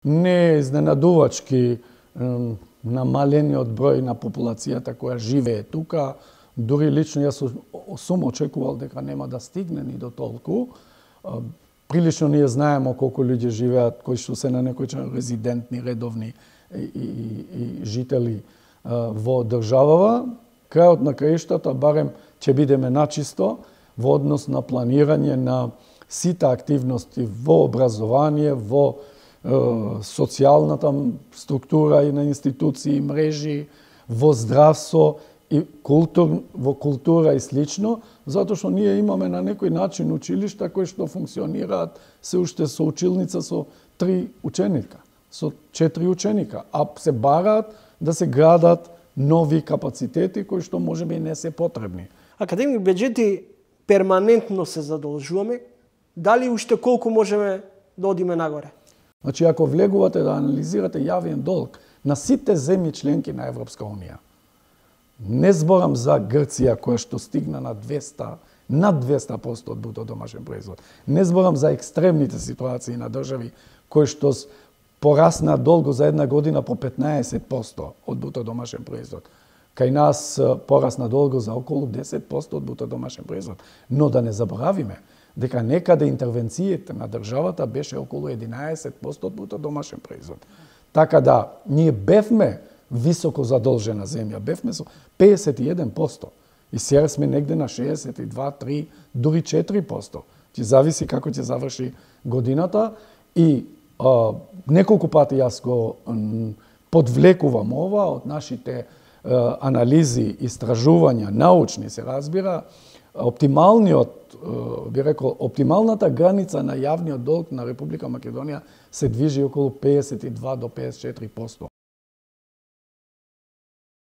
Не е изненадувачки намалениот број на популацијата која живее тука. Дури лично јас сум очекувал дека нема да стигне ни до толку. Прилично ние знаеме колку луѓе живеат кои што се на некој начин резидентни, редовни и жители во државава. Крајот на краиштата барем ќе бидеме начисто во однос на планирање на сите активности во образование, во социјалната структура и на институции, мрежи, во здравство и во култура и слично, затоа што ние имаме на некој начин училишта кои што функционираат се уште со училница со 3 ученика, со 4 ученика, а се бараат да се градат нови капацитети кои што можеби и не се потребни. Академик Беџети, перманентно се задолжуваме, дали уште колку можеме да одиме нагоре? Значи, ако влегувате да анализирате јавен долг на сите земји членки на Европска Унија, не зборам за Грција која што стигна на 200% од бруто домашен производ. Не зборам за екстремните ситуации на држави кои што порасна долго за една година по 15% од бруто домашен производ. Кај нас порасна долго за околу 10% од бруто домашен производ. Но да не заборавиме дека некаде интервенцијата на државата беше околу 11% од бруто домашен производ. Така да, ние бевме високо задолжена земја, бевме со 51%. И сега сме негде на 62, 3, дури 4%. Ќе зависи како ќе заврши годината и неколку пати јас го подвлекувам ова од нашите анализи, истражувања, научни се разбира, оптималната граница на јавниот долг на Република Македонија се движи околу 52 до 54%.